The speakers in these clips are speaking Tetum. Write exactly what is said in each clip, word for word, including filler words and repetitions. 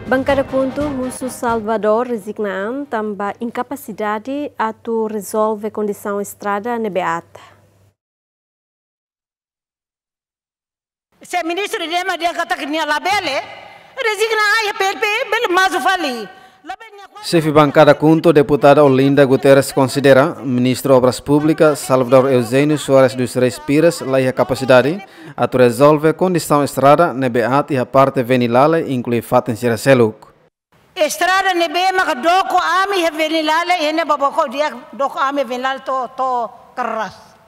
Bankada KHUNTO husu Salvador rezigna an tanba inkapasidade atu rezolve kondisaun estrada ne'ebé aat. Se ministru ida ema dehan katak nia labele, rezigna an iha P L P, bele maju fali. Labele nia kuat. Xefe bankada KHUNTO, deputada Olinda Guterres, konsidera Ministru Obras Públikas, Salvador Eugênio Soares dos Reis Pires, la iha kapasidade atu rezolve kondisaun estrada ne'ebé aat iha parte Venilale, inklui fatin sira seluk. Estrada ne'ebé maka doko ami iha Venilale, iha ne'e baboko dia doko ami Venilale to'o, to'o Carrasco.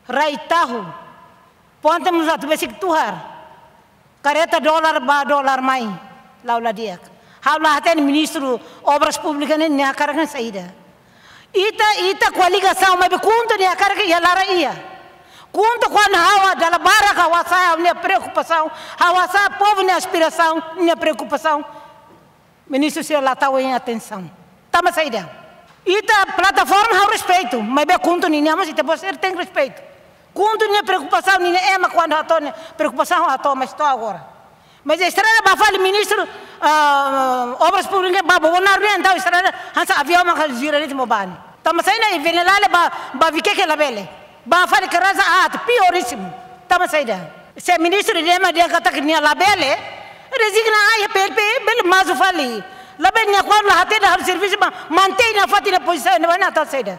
Rai Tahu, ponte mós atu besik tuhar. Kareta dolar bá dolar mai, la'o la di'ak. Ha'u la hatene Ministru Obras Públikas ne'e nia hakarak saida. Ita, ita koligasaun, maibé KHUNTO nia hakarak iha laran iha. KHUNTO kuandu ha'u dala barak ha'u hasa'e ha'u-nia preokupasaun, ha'u hasa'e povu nia aspirasaun, nia preokupasaun. Ministru sira la tau atensaun. Tanba saida? Ita plataforma ha'u respeitu, maibé KHUNTO ninia mós ita-boot sira tenke respeitu. KHUNTO nia preokupasaun, ninia ema kuandu hato'o nia preokupasaun hato'o, mas to'o agora. Mas estrada bá fali ministru, ah, Obras Públikas bá Bobonaro ne'e, entaun estrada hanesan aviaun maka gira de'it mak bá ne'e. Tanba saida iha Venilale bá, bá Viqueque labele. Bá fali Carrasco aat, piorísimu. Tanba saida? Se ministru ida ema dehan katak nia labele, rezigna an iha P L P, bele maju fali. Labele nia kuandu la hatene halo servisu bá, mantein nafatin nia pozisaun, nia bá ne'e atu saida?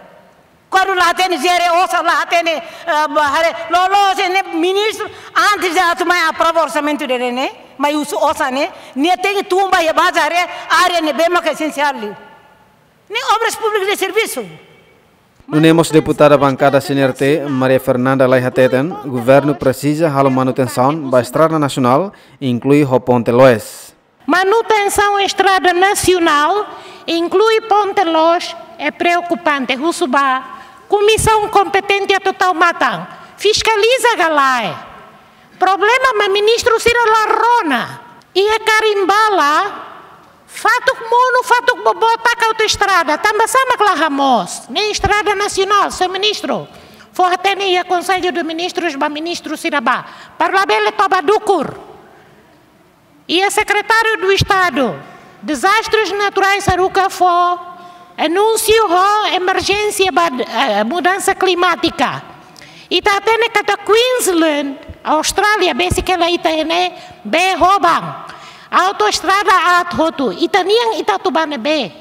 Kuandu la hatene jere osan, la hatene, eh, bá haree, loloos ne'e ministru, antes de atu mai aprova orsamentu ida-ne'e, mai husu osan ne'e, nia tenke tun bá iha baze haree, área ne'ebé maka esensiál liu. Ne'e Obras Públikas nia servisu. Nune'e mós deputada bankada C N R T, Maria Fernanda Lay hateten, governu presiza halo manutensaun ba estrada nasionál, inklui ho ponte Loes. Manutensaun estrada nasionál, inklui ponte Loes, é preokupante. Husu ba komisaun kompetente atu tau matan, fiskaliza ka lae. Problema mak ministru sira la rona. Iha Karimbala, fatuk monu, fatuk boboot taka autoestrada, tanba sá mak la hamoos? Ne'e estrada nasionál, señór ministru. Fó hatene iha Konsellu de Ministrus, ba ministru sira bá. Para labele toba dukur. Iha Sekretáriu Estadu Dezastres Naturais haruka fó anúnsiu ho emerjénsia ba, eh, mudansa klimátika. Ita hatene katak Queensland, Austrália, besik hela ita iha ne'ebé hoban. Autoestrada aat hotu. Ita-nian ita atu bá ne'ebé?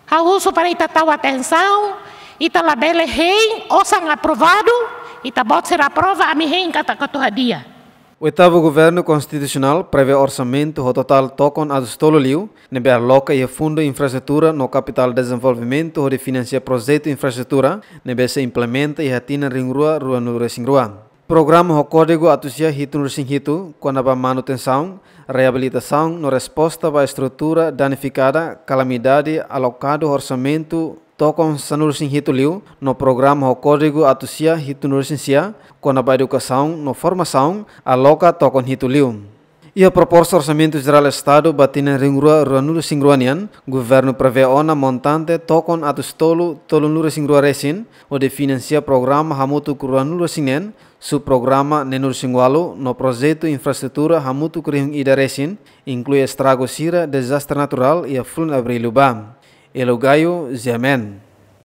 Ha'u husu para ita tau atensaun, ita labele hein osan aprovadu, ita-boot sira aprova, ami hein katak atu hadi'a. Oitavu Governu Konstitusionál prevee orsamentu ho totál tokon atus tolu liu, ne'ebé aloka iha Fundu Infraestrutura no Kapitál Dezenvolvimentu hodi finansia projetu infraestrutura ne'ebé sei implementa iha tinan rihun rua ruanulu-resin-rua. Programa ho kódigu atus sia hitunulu-resin-hitu, kona-ba manutensaun, reabilitasaun no resposta ba estrutura danifikada kalamidade, alokadu orsamentu tokon sanulu-resin-hitu liu, no programa ho kódigu atus sia hitunulu-resin-sia, kona-ba edukasaun no formasaun, aloka tokon hitu liu. Iha proposta Orsamentu Jerál Estadu ba tinan rihun rua ruanulu-resin-rua nian, governu prevee ona montante tokon atus tolu tolunulu-resin-rua resin, hodi finansia programa hamutuk ruanulu-resin-neen, subprograma neenulu-resin-ualu, no projetu infraestrutura hamutuk rihun ida resin, inklui estragu sira dezastre naturál iha fulan Abríl liubá. Elo Gayo, G M N.